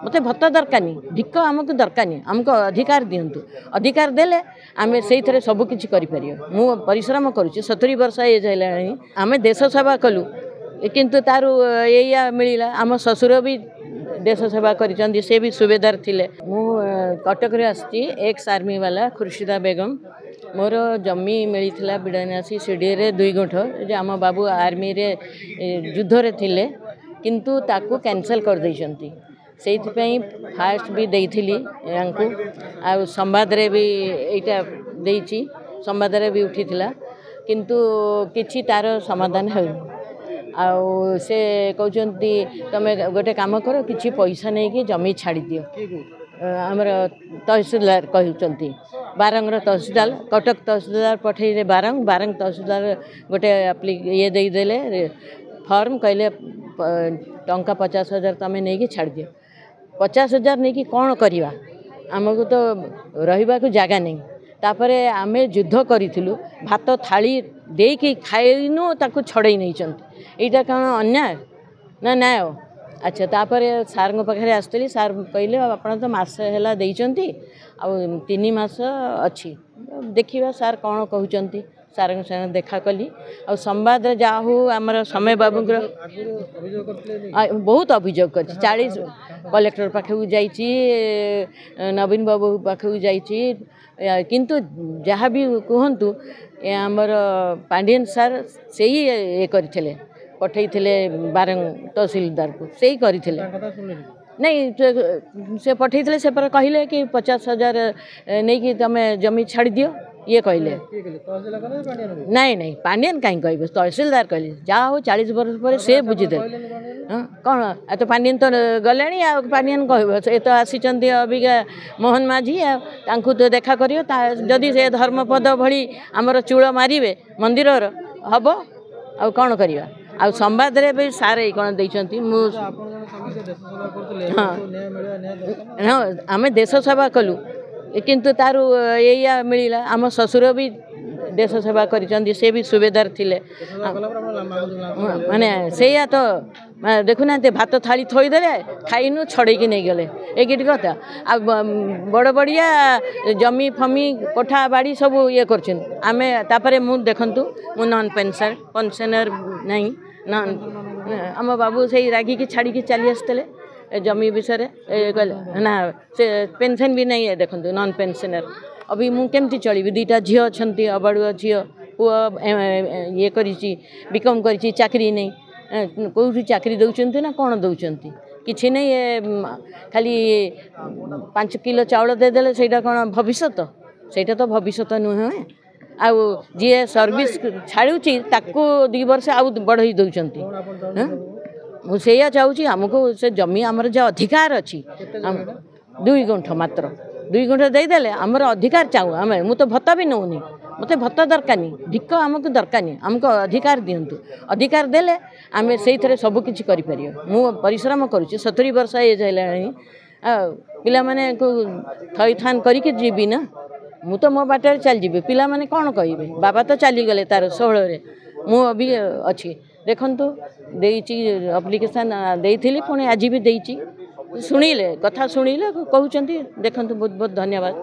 ମୋତେ ଭତ୍ତା ଦରକାର ନାହିଁ, ଭିକ ଆମକୁ ଦରକାର ନାହିଁ, ଆମକୁ ଅଧିକାର ଦିଅନ୍ତୁ। ଅଧିକାର ଦେଲେ ଆମେ ସେଇଥିରେ ସବୁ କିଛି କରିପାରିବା। ମୁଁ ପରିଶ୍ରମ କରୁଛି, 70 ବର୍ଷ ଏଜ୍ ହେଲାଣି। ଆମେ ଦେଶ ସେବା କଲୁ, କିନ୍ତୁ ତାର ଏଇଆ ମିଳିଲା। ଆମ ଶ୍ୱଶୁର ବି ଦେଶ ସେବା କରିଛନ୍ତି, ସେ ବି ସୁବେଦାର ଥିଲେ। ମୁଁ କଟକରେ ଆସିଛି, ଏକ୍ସ ଆର୍ମି ବାଲା ଖୁର୍ସିଦା ବେଗମ। ମୋର ଜମି ମିଳିଥିଲା ବିଡ଼ାନାସୀ ସିଡ଼ିଏରେ 2 ଗୁଣ୍ଠ, ଯେ ଆମ ବାବୁ ଆର୍ମିରେ ଯୁଦ୍ଧରେ ଥିଲେ, କିନ୍ତୁ ତାକୁ କ୍ୟାନସଲ୍ କରିଦେଇଛନ୍ତି। ସେଇଥିପାଇଁ ଫାଷ୍ଟ ବି ଦେଇଥିଲି ୟାଙ୍କୁ, ଆଉ ସମ୍ବାଦରେ ବି ଏଇଟା ଦେଇଛି, ସମ୍ବାଦରେ ବି ଉଠିଥିଲା, କିନ୍ତୁ କିଛି ତାର ସମାଧାନ ହେଉନି। ଆଉ ସେ କହୁଛନ୍ତି ତୁମେ ଗୋଟେ କାମ କର, କିଛି ପଇସା ନେଇକି ଜମି ଛାଡ଼ିଦିଅ। ଆମର ତହସିଲଦାର କହୁଛନ୍ତି, ବାରଙ୍ଗର ତହସିଲଦାର, କଟକ ତହସିଲଦାର ପଠେଇଲେ ବାରଙ୍ଗ, ବାରଙ୍ଗ ତହସିଲଦାର ଗୋଟେ ଇଏ ଦେଇଦେଲେ ଫର୍ମ, କହିଲେ ଟଙ୍କା 50,000 ତୁମେ ନେଇକି ଛାଡ଼ିଦିଅ। 50,000 ନେଇକି କ'ଣ କରିବା? ଆମକୁ ତ ରହିବାକୁ ଜାଗା ନାହିଁ। ତାପରେ ଆମେ ଯୁଦ୍ଧ କରିଥିଲୁ, ଭାତ ଥାଳି ଦେଇକି ଖାଇନୁ, ତାକୁ ଛଡ଼େଇ ନେଇଛନ୍ତି। ଏଇଟା କ'ଣ ଅନ୍ୟାୟ ନା ନ୍ୟାୟ? ଆଚ୍ଛା, ତାପରେ ସାର୍ଙ୍କ ପାଖରେ ଆସିଥିଲି। ସାର୍ କହିଲେ ଆପଣ ତ ମାସେ ହେଲା ଦେଇଛନ୍ତି, ଆଉ 3 ମାସ ଅଛି, ଦେଖିବା ସାର୍ କ'ଣ କହୁଛନ୍ତି। ସାର୍ଙ୍କ ସାଙ୍ଗେ ଦେଖା କଲି, ଆଉ ସମ୍ବାଦରେ ଯାହା ହଉ ଆମର ସମୟ ବାବୁଙ୍କର ବହୁତ ଅଭିଯୋଗ କରିଛି। 40 କଲେକ୍ଟର ପାଖକୁ ଯାଇଛି, ନବୀନ ବାବୁ ପାଖକୁ ଯାଇଛି, କିନ୍ତୁ ଯାହା ବି କୁହନ୍ତୁ ଆମର ପାଣ୍ଡିଆନ ସାର୍ ସେଇ ଇଏ କରିଥିଲେ, ପଠେଇଥିଲେ ବାରଙ୍ଗ ତହସିଲଦାରକୁ, ସେଇ କରିଥିଲେ। ନାଇଁ, ସେ ପଠେଇଥିଲେ, ସେ ପରେ କହିଲେ କି 50,000 ନେଇକି ତୁମେ ଜମି ଛାଡ଼ିଦିଅ। ଇଏ କହିଲେ ନାଇଁ ନାଇଁ, ପାଣ୍ଡିଆନ କାହିଁ କହିବେ, ତହସିଲଦାର କହିଲେ। ଯାହା ହଉ 40 ବର୍ଷ ପରେ ସେ ବୁଝିଦେଲେ। ହଁ, କ'ଣ ଆଉ ତ ପାଣ୍ଡିଆନ ତ ଗଲେଣି, ଆଉ ପାଣ୍ଡିଆନ କହିବ? ସେ ତ ଆସିଛନ୍ତି ଅବିକା ମୋହନ ମାଝୀ, ଆଉ ତାଙ୍କୁ ତ ଦେଖା କରିବ। ତା ଯଦି ସେ ଧର୍ମପଦ ଭଳି ଆମର ଚୂଳ ମାରିବେ ମନ୍ଦିରର ହେବ, ଆଉ କ'ଣ କରିବା? ଆଉ ସମ୍ବାଦରେ ବି ସାର୍ ଏଇ କ'ଣ ଦେଇଛନ୍ତି। ମୁଁ ହଁ ହଁ, ଆମେ ଦେଶ ସେବା କଲୁ, କିନ୍ତୁ ତାର ଏଇଆ ମିଳିଲା। ଆମ ଶ୍ୱଶୁର ବି ଦେଶ ସେବା କରିଛନ୍ତି, ସେ ବି ସୁବେଦାର ଥିଲେ। ମାନେ ସେଇଆ ତ ଦେଖୁନାହାନ୍ତି, ଭାତ ଥାଳି ଥୋଇଦେଲେ, ଖାଇନୁ, ଛଡ଼େଇକି ନେଇଗଲେ। ଏଇ କଥା। ଆଉ ବଡ଼ ବଡ଼ିଆ ଜମି ଫମି କୋଠା ବାଡ଼ି ସବୁ ଇଏ କରୁଛନ୍ତି। ଆମେ ତାପରେ ମୁଁ ଦେଖନ୍ତୁ, ମୁଁ ନନ୍ ପେନ୍ସନର, ପେନ୍ସନର ନାହିଁ। ନନ୍ ଆମ ବାବୁ ସେଇ ରାଗିକି ଛାଡ଼ିକି ଚାଲି ଆସିଥିଲେ ଜମି ବିଷୟରେ କହିଲେ ନା, ସେ ପେନ୍ସନ୍ ବି ନାହିଁ। ଦେଖନ୍ତୁ, ନନ୍ ପେନ୍ସନର ଅବି ମୁଁ କେମିତି ଚଳିବି? 2ଟା ଝିଅ ଅଛନ୍ତି, ଅବାଡ଼ୁଆ ଝିଅ, ପୁଅ ଇଏ କରିଛି, ବିକମ୍ କରିଛି, ଚାକିରି ନେଇ। କେଉଁଠି ଚାକିରି ଦେଉଛନ୍ତି ନା କ'ଣ ଦେଉଛନ୍ତି? କିଛି ନାହିଁ। ଏ ଖାଲି 5 କିଲୋ ଚାଉଳ ଦେଇଦେଲେ ସେଇଟା କ'ଣ ଭବିଷ୍ୟତ? ସେଇଟା ତ ଭବିଷ୍ୟତ ନୁହେଁ। ଆଉ ଯିଏ ସର୍ଭିସ୍ ଛାଡ଼ୁଛି ତାକୁ 2 ବର୍ଷ ଆଉ ବଢ଼େଇ ଦେଉଛନ୍ତି। ମୁଁ ସେଇଆ ଚାହୁଁଛି, ଆମକୁ ସେ ଜମି ଆମର ଯାହା ଅଧିକାର ଅଛି, 2 ଗୁଣ୍ଠ, ମାତ୍ର 2 ଗୁଣ୍ଠ ଦେଇଦେଲେ ଆମର ଅଧିକାର ଚାହୁଁ ଆମେ। ମୁଁ ତ ଭତ୍ତା ବି ନେଉନି, ମୋତେ ଭତ୍ତା ଦରକାର ନାହିଁ, ଭିକ ଆମକୁ ଦରକାର ନାହିଁ, ଆମକୁ ଅଧିକାର ଦିଅନ୍ତୁ। ଅଧିକାର ଦେଲେ ଆମେ ସେଇଥିରେ ସବୁ କିଛି କରିପାରିବା। ମୁଁ ପରିଶ୍ରମ କରୁଛି, 70 ବର୍ଷ ଏଜ୍ ହେଲାଣି, ଆଉ ପିଲାମାନଙ୍କୁ ଥଇଥାନ କରିକି ଯିବି ନା? ମୁଁ ତ ମୋ ବାଟରେ ଚାଲିଯିବି, ପିଲାମାନେ କ'ଣ କହିବେ? ବାବା ତ ଚାଲିଗଲେ ତାର 16ରେ, ମୁଁ ବି ଅଛି। ଦେଖନ୍ତୁ, ଦେଇଛି ଆପ୍ଲିକେସନ୍ ଦେଇଥିଲି, ପୁଣି ଆଜି ବି ଦେଇଛି। ଶୁଣିଲେ, କଥା ଶୁଣିଲେ, କହୁଛନ୍ତି ଦେଖନ୍ତୁ। ବହୁତ ବହୁତ ଧନ୍ୟବାଦ।